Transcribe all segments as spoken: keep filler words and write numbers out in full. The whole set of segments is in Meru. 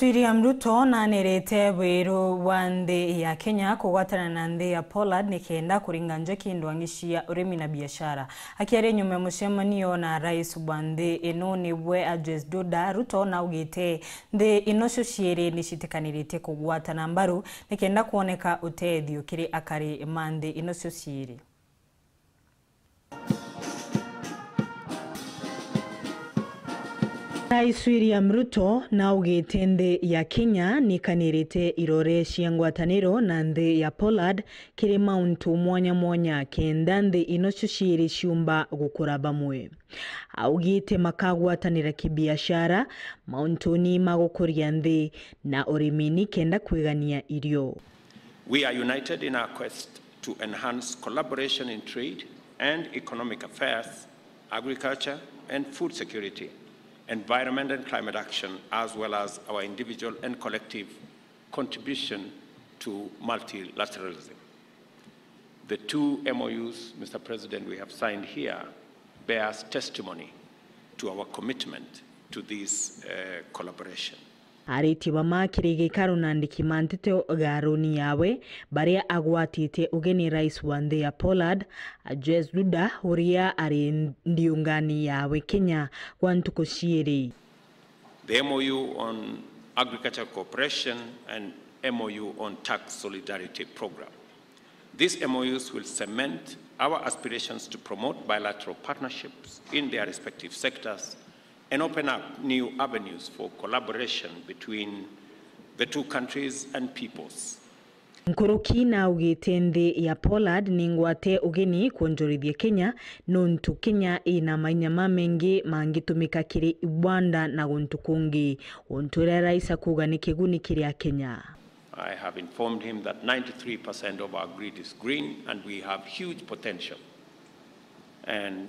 William Ruto nanirite wiru wa nthi ya Kenya kugwatana na nthi ya Poland nikenda kuringa njoki ndwang'i cia urimi na biashara. Akiaria nyuma ya mucemanio na rais wa nthi ino niwe Andrzej Duda, Ruto naugite nthi ino cio ciiri nicitikaniritie kugwatana mbaru nikenda kwoneka utethio kiri akari ma nthi ino cio ciiri. Rais William Ruto naugite nthi ya Kenya nikanirite irore cia ngwataniro na nthi ya Poland kiri mauntu mwanya mwanya kenda nthi ino cio ciiri ciumba gukura bamwe. Augite makagwatanira kibiashara mauntuni ma gukuria nthi na urimi nikenda kwigania irio. We are united in our quest to enhance collaboration in trade and economic affairs, agriculture and food security, environment and climate action, as well as our individual and collective contribution to multilateralism. The two M O Us, Mister President, we have signed here bears testimony to our commitment to this, uh, collaboration. Aritie bama kiri gikaro na andiki ma nteto garuni yawe, baria agwatite ugeni rais wa nthi ya Poland, Andrzej Duda, uria ari ndiungani yawe Kenya gwa ntuku ciiri. The M O U on agricultural cooperation and M O U on tax solidarity program. These M O Us will cement our aspirations to promote bilateral partnerships in their respective sectors and open up new avenues for collaboration between the two countries and peoples. Nkuruki naugite nthi ya Poland ni ngwate ugeni kwonjorithia Kenya, nontu Kenya ina mainya mamaingi mangitumika kiri igwanda na guntu kungi, untu uria rais akuuga ni kiguni kiri Akenya. I have informed him that ninety-three percent of our grid is green and we have huge potential. And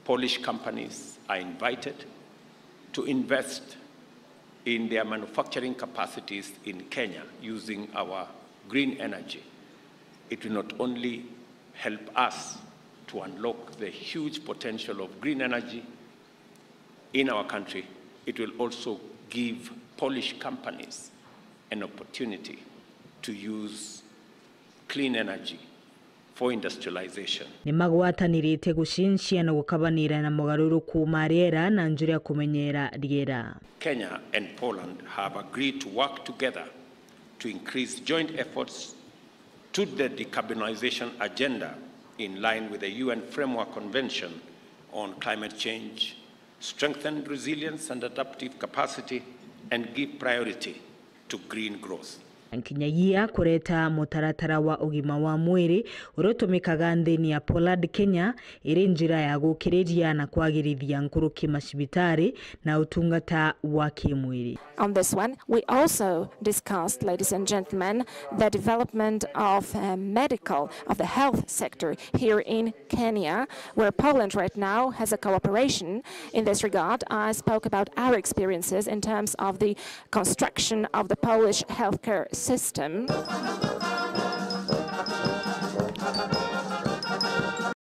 Polish companies are invited to invest in their manufacturing capacities in Kenya using our green energy. It will not only help us to unlock the huge potential of green energy in our country, it will also give Polish companies an opportunity to use clean energy for industrialization. Ni magwatanirite gucincia na gukabanira na mogaruruku ma riera na njira ya kumenyera riera. Kenya and Poland have agreed to work together to increase joint efforts to the decarbonization agenda in line with the U N Framework Convention on Climate Change, strengthen resilience and adaptive capacity, and give priority to green growth. Nkinyagia kureta mutaratara wa ugima wa mwiri uria utumikaga nthini ya Poland, Kenya, iri njira ya gukiriria na kwagirithia nkuruki macibitari na utungata wa kimwiri. On this one, we also discussed, ladies and gentlemen, the development of, uh, medical, of the health sector here in Kenya, where Poland right now has a cooperation in this regard. I spoke about our experiences in terms of the construction of the Polish healthcare system.